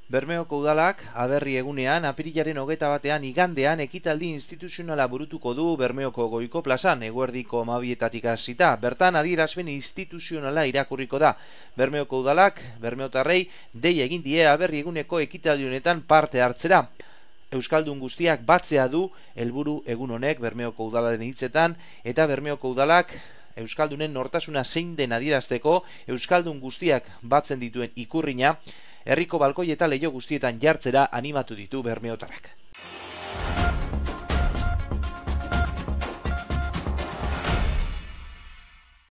Bermeoko udalak aberri egunean apirilaren 21 igandean ekitaldi instituzionala burutuko du Bermeoko Goiko plazan, eguerdiko 12 hasita. Bertan adierazpen instituzionala irakurriko da. Bermeoko udalak bermeotarrei dei egin die aberri eguneko ekitaldi honetan parte hartzera. Euskaldun guztiak batzea du helburu egun honek Bermeoko udalaren hitzetan, eta Bermeoko udalak euskaldunen nortasuna zein den adierazteko euskaldun guztiak batzen dituen ikurrina herriko balkoi eta leiho guztietan jartzera animatu ditu bermeotarrak.